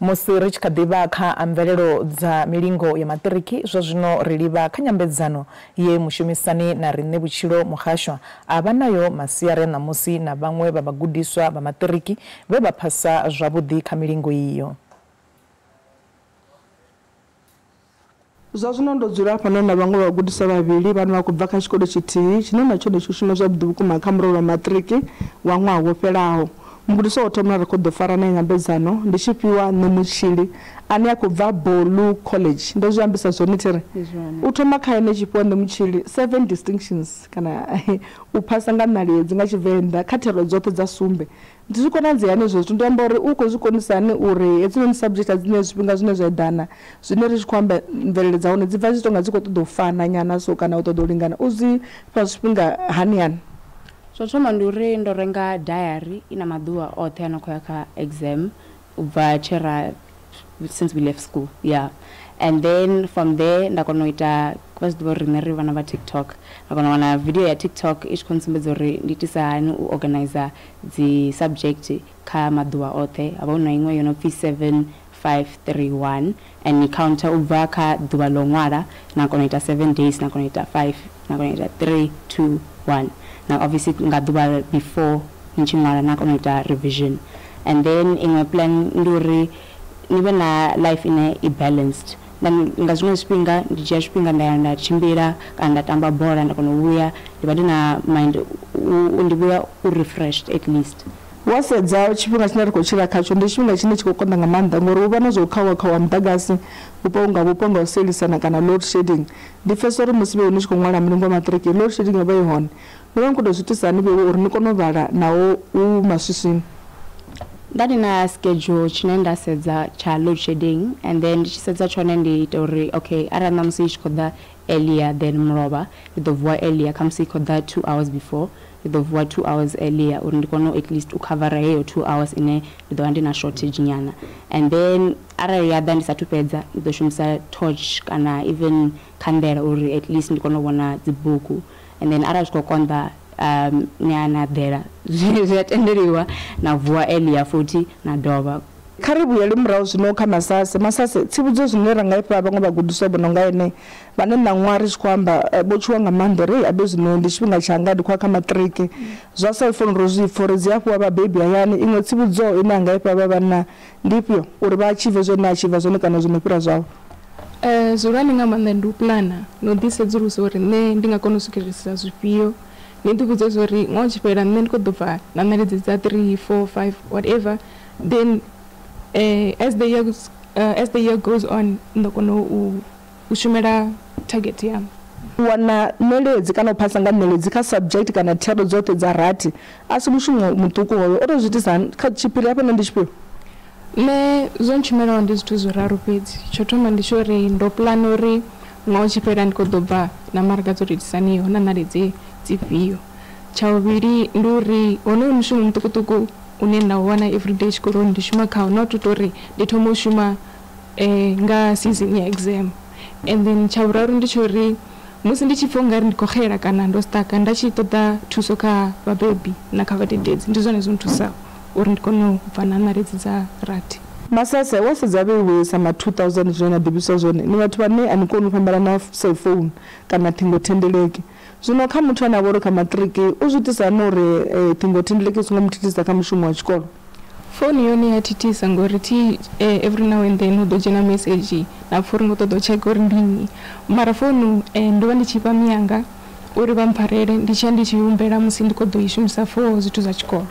Musi ri tshi kha ḓi vha kha mvelelo dza milingo ya maṱiriki, zwa zwino ri livha kha nyambedzano ye mushumisani na riṋe Vhutshilo Muhashwa a vha nayo masiari a ṋamusi na vhaṅwe vha vhagudiswa vha maṱiriki vhe vha phasa zwavhuḓi kha milingo iyo. Zwa zwino ndo dzula hafhano na vhaṅwe vhagudiswa vhavhili vhane vha khou bva kha tshikolo tshithihi tshine na tshone tsho shuma zwavhuḓi vhukuma kha murole wa maṱiriki wa ṅwaha wo fhelaho. Mugudiswa wa thoma ri khou ḓo fara nae nyambedzano ndi Tshifhiwa Ṋemutshili ane a khou bva Bolu College. Ndo zwi ambisa zwone thiri u thoma kha ene Tshifhiwa Ṋemutshili 7 distinctions kana u phasa nga ṋaledzi nga Tshivenḓa kha thero dzoṱhe dza sumbe. Ndi zwi konadzea hani hezwo zwithu? Ndi amba uri u khou zwi konisa hani uri hedzinoni subject a dzine zwifhinga zwine zwa eḓana zwine ri tshi khou amba mvelele dza hone dzi bva dzi tonga dzi khou ṱoḓa u fana nyana so kana u ṱoḓa u lingana, u zwi fha zwifhinga hani hani? Zwo thoma ndi uri ndo renga diary ina maḓuvha oṱhe ano khou ya kha exam u bva tshera since we left school, yeah. And then from there nda kona u ita, vha zwi ḓivha uri riṋe ri vhana vha TikTok, nda kona u wana video ya TikTok i tshi khou ntsumbedza uri ndi itisa hani u organizer dzi subject kha maḓuvha oṱhe. Havha hu na iṅwe yo no pfi 7 5 3 1 and ni counter u bva kha ḓuvha ḽo ṅwala, na kona u ita 7 days, na kona u ita 5, na kona u ita 3 2 1. Na obviously nga ḓuvha before ni tshi ṅwala na kona u ita revision. And then iṅwe plan ndi uri ni vhe na life ine i balanced. Nga zwiṅwe zwifhinga ndi dzhia tshifhinga nda ya nda tshimbila kana nda tamba bola, nda kona u vhuya ndi vha ndi na mind ndi vhuya u refreshed at least. Wa sedza tshifhinga tshine ri khou tshila khatsho ndi tshifhinga tshine tshi khou konḓa nga maanḓa ngori hu vha na zwo khauwa khauwa muḓagasi vhupo nga vhupo nga u sielisana kana load shedding. Ndi pfesesa uri musi vheiwe ni tshi khou ṅwala mulingo wa maṱiriki load shedding yo vha i hone. No vha ni khou tou zwi itisa hani vheiwe uri ni kone u vhala naho hu maswiswini? Nda ndi na schedule tshine nda sedza tsha load shedding, and then ndi tshi sedza tshone ndi ita uri okay arali ṋamusi i tshi khou ḓa earlier than mulovha ndi ḓo vuwa earlier, khamusi i khou ḓa 2 hours before ndi ḓo vuwa 2 hours earlier uri ndi kone at least u khavara heyo 2 hours ine ndi ḓo vha ndi na shortage nyana. And then arali ya ḓa ndi sathu fhedza ndi ḓo shumisa torch kana even khanḓela uri at least ndi kone u vhona dzibugu. And then arali zwi khou konḓa ni a na ḓela zwi a tendeliwa na vuwa earlier futhi na dovha. Kha ri vhuyele murahu zwino kha Masase. Masase, tsivhudzo zwine ra nga ifha vhaṅwe vhagudiswa vho no nga ene vhane ṋaṅwaha ri tshi khou amba vho tshuwa nga maanḓa uri abe zwino ndi tshifhinga tshanga ndi khou ya kha maṱiriki, zwa cellphone ro zwi pfha uri dzi a fhiwa vhabebi hayani. Iṅwe tsivhudzo ine a nga ifha vha vhanna ndi ifhio uri vha achieve zwine a achieve zwone kana zwino fhira zwavho? Zwihulwane nga maanḓa ndi u plana na u ḓisedzulusa uri nṋe ndi nga kona u swikelelisa zwifhio. Ni ḓi vhudze zwa uri ṅwaha u tshi fhela nṋe ndi khou ḓo bva na ṋaledzi dza 3 4 5 whatever, then as the year goes on ndo kona u shumela target yanga. U wana ṋeledzi kana u phasa nga ṋeledzi kha subject kana thero dzoṱhe dza rathi a si mushumo muṱuku hoyo. O tou zwi itisa hani? Kha tshiphiri hafha ndi tshifhio? Nṋe zwo ntshumelaho ndi zwithu zwiraru fhedzi. Tsho thoma ndi tsho uri ndo plana uri ṅwaha u tshi fhela ndi khou ḓo bva na maraga dzo tou itisaniho na ṋaledzi dzifhio. Tsha vhuvhili ndi uri honoyo mushumo muṱukuṱuku une nda u wana everyday tshikoloni ndi shuma khawo, not u tou uri ndi thoma u shuma nga season ya exam. And then tsha vhuraru ndi tsho uri musi ndi tshi pfha ungari ndi khou xela kana ndo staka, nda tshi ṱoḓa thuso kha vhabebi na kha vhadededzi, ndi zwone zwo nthusaho uri ndi kone u bva na ṋaledzi dza rathi. Masase, wa sedza vheiwe sa ma 2000 zwine na ḓivhiswa zwone, ni vhathu vhane a ni koni u fhambana na cellphone kana ṱhingothendeleki. Zwino kha muthu ane a vha uri kha maṱiriki u zwi itisa hani uri ṱhingothendeleki i songo mu thithisa kha mushumo wa tshikolo? Founu yone ya thithisa ngori thi every now and then hu ḓo dzhena message na pfha uri ngo ṱoḓa u tsheka uri ndi nnyi, mara founu ndo vha ndi tshi fha miyanga uri vha mpfarele, ndi tshiya ndi tshi humbela musi ndi khou ḓo i shumisa for zwithu zwa tshikolo.